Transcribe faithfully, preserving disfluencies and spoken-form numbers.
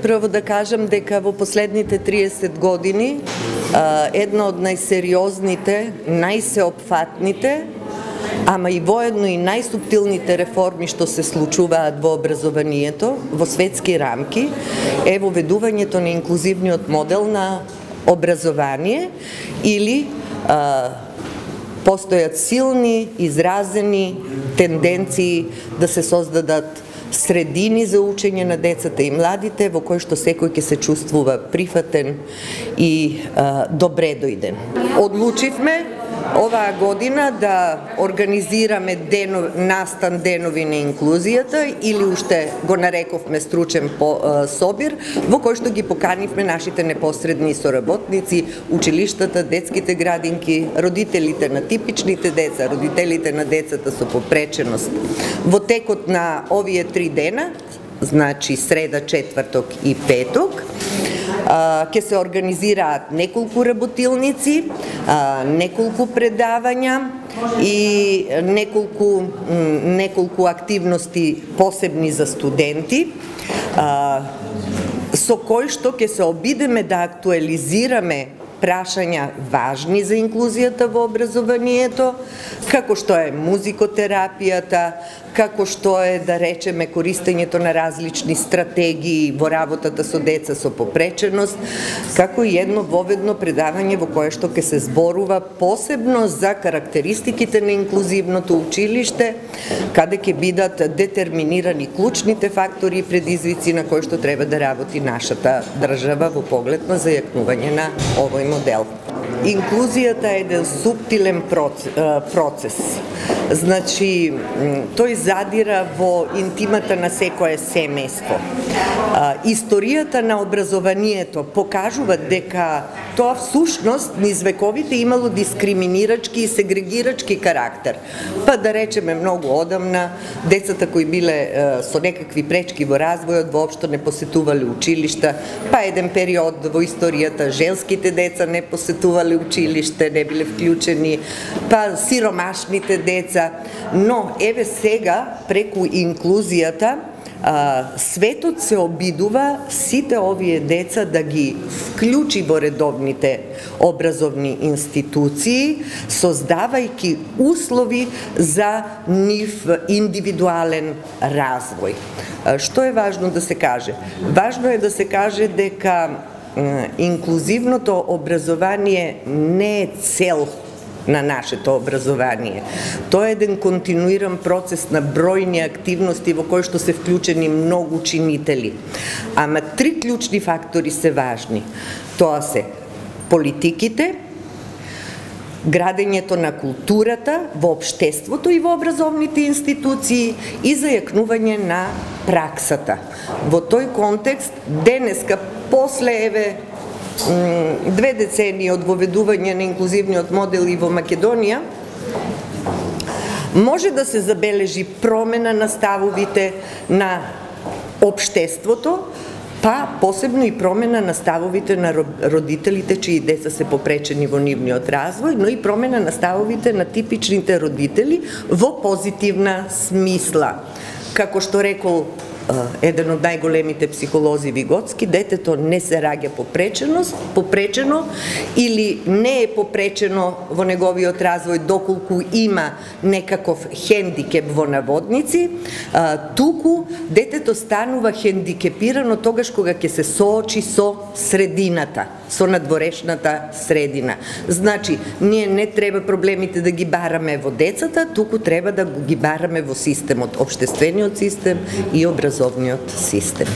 Прво да кажам дека во последните триесет години една од најсериозните, најсеопфатните, ама и воедно и најсуптилните реформи што се случуваат во образованието, во светски рамки, е воведувањето на инклузивниот модел на образование или а, постојат силни, изразени тенденции да се создадат средини за учење на децата и младите во кои што секој ќе се чувствува прифатен и а, добре дојден. Одлучивме оваа година да организираме денов, настан денови на инклузијата или уште го нарековме стручен по, а, собир во кој што ги поканивме нашите непосредни соработници, училиштата, детските градинки, родителите на типичните деца, родителите на децата со попреченост. Во текот на овие три дена, значи среда, четврток и петок, ќе се организираат неколку работилници, неколку предавања и неколку неколку активности посебни за студенти, со кои што ќе се обидеме да актуализираме прашања важни за инклузијата во образованието, како што е музикотерапијата, како што е, да речеме, користењето на различни стратегии во работата со деца со попреченост, како и едно воведно предавање во кое што ќе се зборува посебно за карактеристиките на инклузивното училиште, каде ќе бидат детерминирани клучните фактори и предизвици на кои што треба да работи нашата држава во поглед на зајакнување на овој модел. Инклузијата е еден суптилен процес. Значи, тој задира во интимата на секое семејство. Историјата на образованието покажува дека тоа всушност низ вековите имало дискриминирачки и сегрегирачки карактер. Па да речеме многу одамна, децата кои биле со некакви пречки во развојот воопшто не посетувале училишта, па еден период во историјата женските деца не посетувале училиште, не биле вклучени, па сиромашните деца, но еве сега преку инклузијата светот се обидува сите овие деца да ги вклучи во редовните образовни институции, создавајќи услови за нив индивидуален развој. Што е важно да се каже? Важно е да се каже дека инклузивното образование не е цел на нашето образование. Тоа е еден континуиран процес на бројни активности во кои што се вклучени многу чинители. Ама три клучни фактори се важни. Тоа се политиките, градењето на културата во општеството и во образовните институции и зајакнување на праксата. Во тој контекст, денеска, после еве две децении од воведување на инклузивниот модел и во Македонија, може да се забележи промена на ставовите на општеството, па посебно и промена на ставовите на родителите чии деца се попречени во нивниот развој, но и промена на ставовите на типичните родители во позитивна смисла. Како што рекол еден од најголемите психолози Виготски, детето не се раѓа попреченост, попречено или не е попречено во неговиот развој доколку има некаков хендикеп во наводници, туку детето станува хендикепирано тогаш кога ќе се соочи со средината, со надворешната средина. Значи, ние не треба проблемите да ги бараме во децата, туку треба да ги бараме во системот, општествениот систем и образовниот систем.